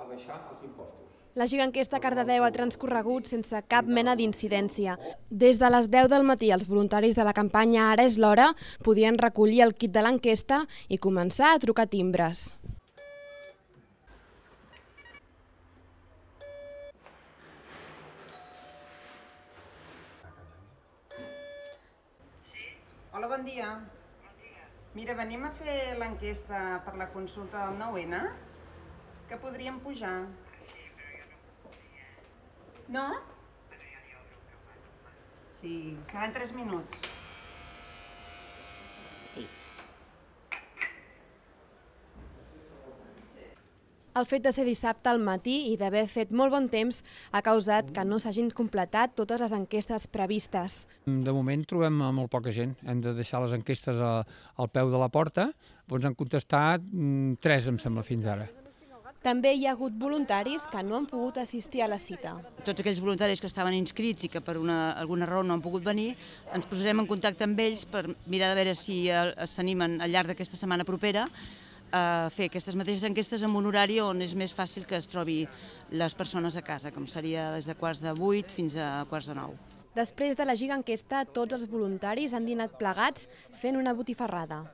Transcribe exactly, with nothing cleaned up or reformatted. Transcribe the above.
abaixar els impostos. La giganquesta a Cardedeu ha transcorregut sense cap mena d'incidència. Des de les deu del matí, els voluntaris de la campanya Ara és l'hora podien recollir el kit de l'enquesta i començar a trucar timbres. Hola, bon dia. Mira, venim a fer l'enquesta per la consulta del nou ene, que podríem pujar. No? Sí, seran tres minuts. El fet de ser dissabte al matí i d'haver fet molt bon temps ha causat que no s'hagin completat totes les enquestes previstes. De moment trobem molt poca gent. Hem de deixar les enquestes al peu de la porta. Ens han contestat tres, em sembla, fins ara. També hi ha hagut voluntaris que no han pogut assistir a la cita. Tots aquells voluntaris que estaven inscrits i que per una, alguna raó no han pogut venir, ens posarem en contacte amb ells per mirar de veure si s'animen al llarg d'aquesta setmana propera a fer aquestes mateixes enquestes en un horari on és més fàcil que es trobi les persones a casa, com seria des de quarts de vuit fins a quarts de nou. Després de la giganquesta, tots els voluntaris han dinat plegats fent una botifarrada.